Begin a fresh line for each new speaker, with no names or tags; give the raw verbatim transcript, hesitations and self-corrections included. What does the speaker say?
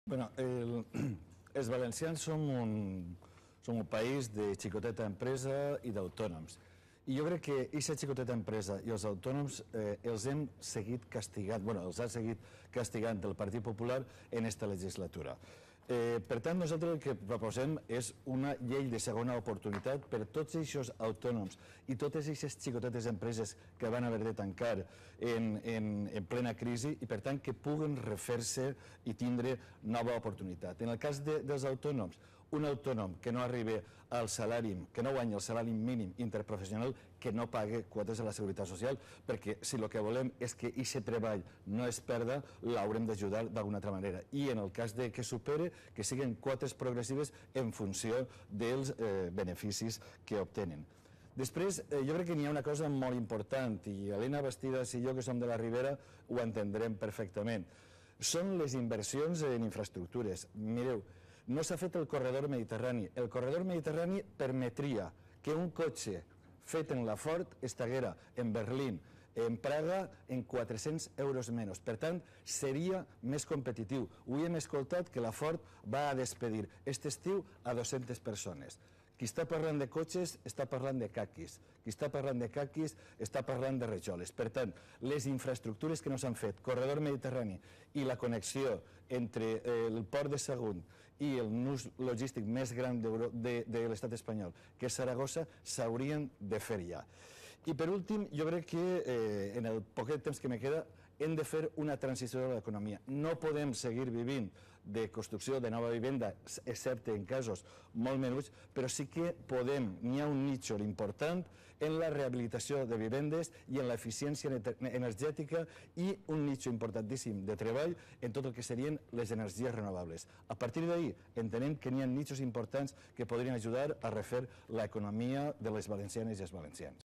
Bueno, el, els valencians som un, som un país de xicoteta empresa i d'autònoms. I jo crec que aquesta xicoteta empresa i els autònoms eh, els hem seguit castigant, bueno, els ha seguit castigant el Partit Popular en esta legislatura. Eh, per tant, nosaltres el que proposem és una llei de segona oportunitat per tots aquests autònoms i totes aquestes xicotetes empreses que van haver de tancar en, en, en plena crisi i, per tant, que puguen refer-se i tindre nova oportunitat. En el cas de, dels autònoms, un autònom que no arribi al salari, que no guanyi el salari mínim interprofessional, que no pague quotes a la Seguretat Social, perquè si el que volem és que aquest treball no es perda, l'haurem d'ajudar d'alguna altra manera. I en el cas de que supere, que siguin quotes progressives en funció dels eh, beneficis que obtenen. Després, eh, jo crec que n'hi ha una cosa molt important, i Elena Bastidas i jo, que som de la Ribera, ho entendrem perfectament. Són les inversions en infraestructures. Mireu, no s'ha fet el corredor mediterrani. El corredor mediterrani permetria que un cotxe fet en la Ford estaguera en Berlín, en Praga, en quatre-cents euros menys. Per tant, seria més competitiu. Avui hem escoltat que la Ford va a despedir aquest estiu a dues-centes persones. Qui està parlant de cotxes està parlant de caquis. Qui està parlant de caquis està parlant de rajoles. Per tant, les infraestructures que no s'han fet, corredor mediterrani i la connexió entre el port de Sagunt i el nus logístic més gran de, de l'estat espanyol, que és Saragossa, s'haurien de fer ja. I per últim, jo crec que eh, en el poquet temps que me queda hem de fer una transició de l'economia. No podem seguir vivint de construcció de nova vivenda, excepte en casos molt menuts, però sí que podem, n'hi ha un nítxol important en la rehabilitació de vivendes i en l'eficiència energètica i un nítxol importantíssim de treball en tot el que serien les energies renovables. A partir d'ahir entenem que n'hi ha nítxols importants que podrien ajudar a refer l'economia de les valencianes i els valencians.